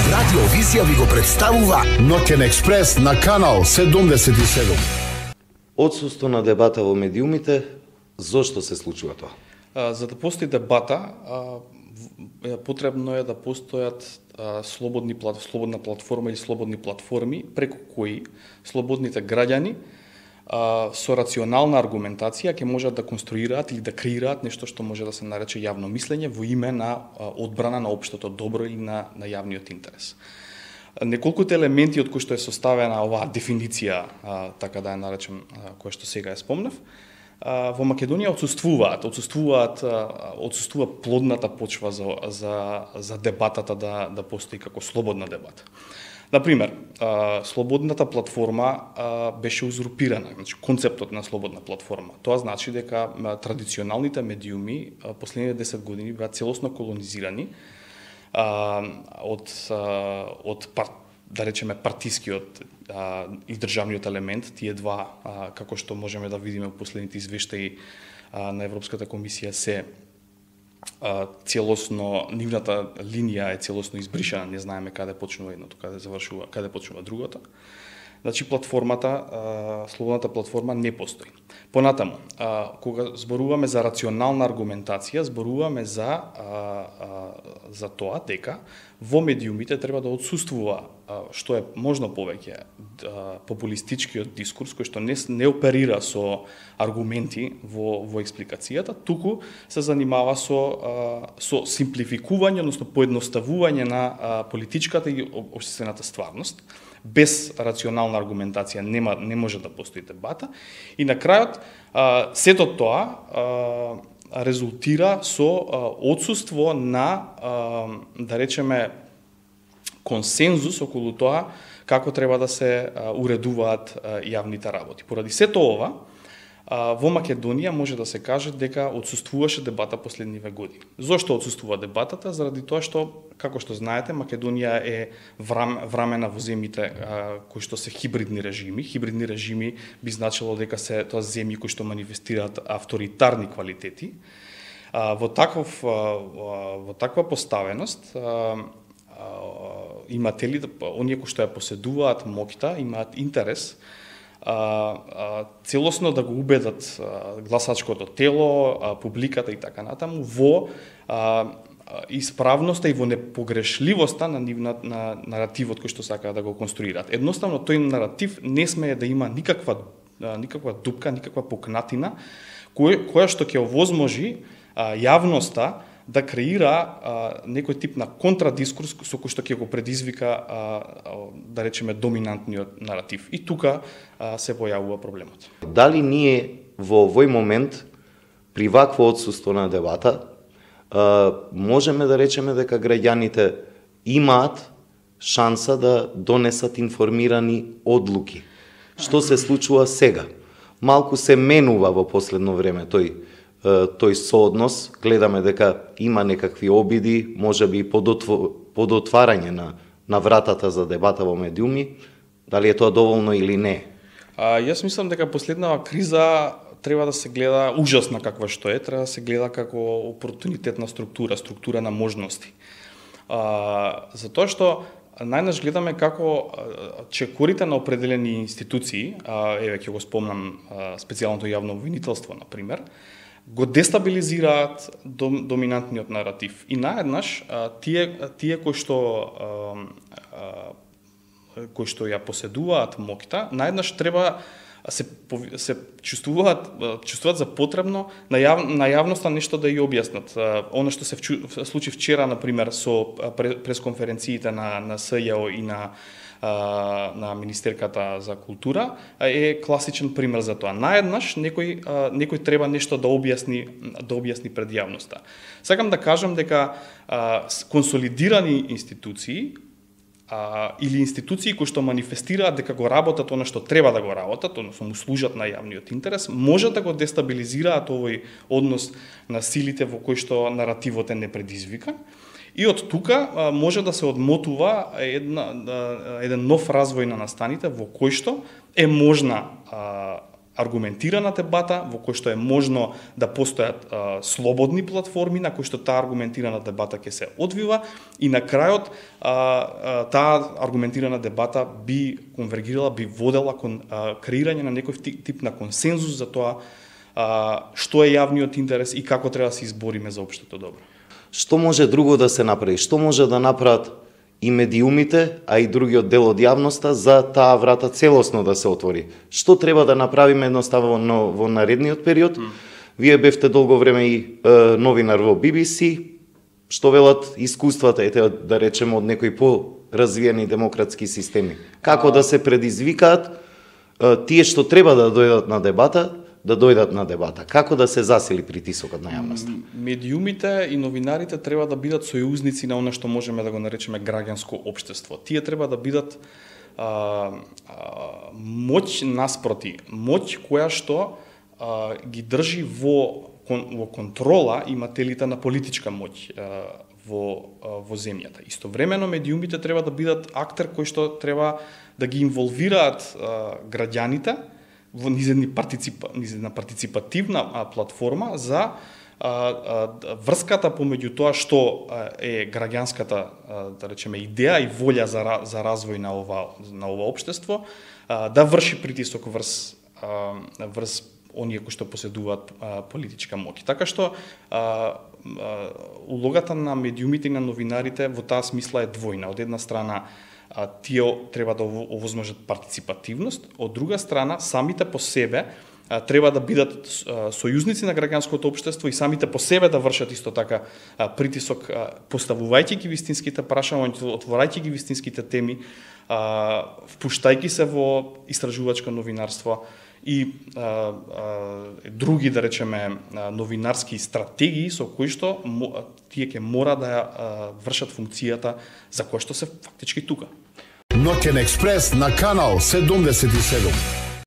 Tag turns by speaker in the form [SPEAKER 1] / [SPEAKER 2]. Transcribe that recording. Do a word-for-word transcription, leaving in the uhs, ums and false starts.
[SPEAKER 1] Радио Визија ви го представува
[SPEAKER 2] Ноќен експрес на канал седумдесет и седум.
[SPEAKER 3] Отсуство на дебата во медиумите, зошто се случува тоа?
[SPEAKER 4] За да постои дебата, потребно е да постојат слободни слободна платформа или слободни платформи преку кои слободните граѓани со рационална аргументација ќе можат да конструираат или да креираат нешто што може да се нарече јавно мислење во име на одбрана на општото добро или на, на јавниот интерес. Неколкуте елементи од кои што е составена оваа дефиниција, така да ја наречем, која што сега ја спомнав, во Македонија отсуствуваат, отсуствуваат, отсуствува плодната почва за, за, за дебатата да, да постои како слободна дебата. Например, слободната платформа беше узурпирана, значи концептот на слободна платформа. Тоа значи дека традиционалните медиуми последните десет години беа целосно колонизирани од од пар, да речеме партискиот и државниот елемент, тие два, како што можеме да видиме во последните извештаи на Европската комисија, се целосно, нивната линија е целосно избришена, не знаеме каде почнува едното, каде завршува, каде почнува другото. Значи платформата, слободната платформа не постои. Понатаму, кога зборуваме за рационална аргументација, зборуваме за за тоа дека во медиумите треба да отсуствува што е можно повеќе популистичкиот дискурс кој што не, не оперира со аргументи во во експликацијата, туку се занимава со со симплификување, односно поедноставување на политичката и општествената стварност. Без рационална аргументација нема не може да постои дебата и на крајот сето тоа резултира со отсуство на, да речеме, консензус околу тоа како треба да се уредуваат јавните работи. Поради сето ова, во Македонија може да се каже дека отсуствуваше дебата последниве години. Зошто отсуствува дебатата? Заради тоа што, како што знаете, Македонија е врамена во земјите кои што се хибридни режими. Хибридни режими би значило дека се тоа земји кои што манифестираат авторитарни квалитети. Во таков во таква поставеност имателите, оние кои што ја поседуваат моќта, имаат интерес А, а, целосно да го убедат а, гласачкото тело, а, публиката и така натаму во а, исправноста и во непогрешливоста на, на, на наративот кој што сакаат да го конструираат. Едноставно тој наратив не смее да има никаква а, никаква дупка, никаква пукнатина кој, која што ќе овозможи а, јавноста да креира а, некој тип на контрадискурс со кој што ќе го предизвика, а, а, да речеме, доминантниот наратив. И тука а, се појавува проблемот.
[SPEAKER 3] Дали ние во овој момент, при вакво отсуство на дебата, а, можеме да речеме дека граѓаните имаат шанса да донесат информирани одлуки? Што се случува сега? Малку се менува во последно време тој тој сооднос, гледаме дека има некакви обиди, можеби подотварање на, на вратата за дебата во медиуми, дали е тоа доволно или не?
[SPEAKER 4] А, јас мислам дека последнава криза треба да се гледа ужасна каква што е, треба да се гледа како опортунитетна структура, структура на можности. А, затоа што најнаш гледаме како чекорите на определени институции, а, еве ќе го спомнам специјалното јавно обвинителство, например, го дестабилизираат дом, доминантниот наратив. И наеднаш тие тие кои што кои што ја поседуваат моќта, наеднаш треба се се чувствуваат чувствуваат за потребно на јав, на јавноста нешто да ја објаснат. Она што се случи вчера, например, со пресконференциите на на СЈО и на на Министерката за култура е класичен пример за тоа. Наеднаш некој некој треба нешто да објасни да објасни пред јавноста. Сакам да кажам дека консолидирани институции а, или институции кои што манифестираат дека го работат она што треба да го работат, односно му служат на јавниот интерес, може да го дестабилизираат овој однос на силите во кој што наративот е непредизвикан. И од тука може да се одмотува една, еден нов развој на настаните во кој што е можна аргументирана дебата во кој што е можно да постојат а, слободни платформи на кои што таа аргументирана дебата ќе се одвива и на крајот а, а, таа аргументирана дебата би конвергирала, би водела кон а, креирање на некој тип на консензус за тоа а, што е јавниот интерес и како треба да се избориме за општото добро.
[SPEAKER 3] Што може друго да се направи? Што може да направат и медиумите, а и другиот дел од јавноста за таа врата целосно да се отвори? Што треба да направиме едноставно во наредниот период? Mm. Вие бевте долго време и е, новинар во Би Би Си. Што велат искуствата, ете да речеме од некои по-развиени демократски системи? Како а... да се предизвикаат е, тие што треба да дојдат на дебата, да дојдат на дебата? Како да се засили притисокот на јавноста?
[SPEAKER 4] Медиумите и новинарите треба да бидат сојузници на она што можеме да го наречеме граѓанско општество. Тие треба да бидат а, а, моќ наспроти, моќ која што а, ги држи во, во контрола имателите на политичка моќ а, во, а, во земјата. Истовремено медиумите треба да бидат актер кој што треба да ги инволвираат а, граѓаните во низедни партиципа, низедна партиципативна а, платформа за а, а, врската помеѓу тоа што а, е граѓанската а, да речеме идеја и волја за за развој на ова на ова општество, а, да врши притисок врз а, врз оние кои што поседуваат а, политичка моќ. Така што а, а, улогата на медиумите и на новинарите во таа смисла е двојна. Од една страна а, тие треба да овозможат партиципативност, од друга страна самите по себе а, треба да бидат а, сојузници на граѓанското општество и самите по себе да вршат исто така а, притисок, а, поставувајќи ги вистинските прашања, отворајќи ги вистинските теми, а, впуштајќи се во истражувачко новинарство и а, а, други, да речеме, новинарски стратегии со кои што тие ќе мора да а, вршат функцијата за која што се фактички тука.
[SPEAKER 2] Ноќен експрес на канал седумдесет и седум.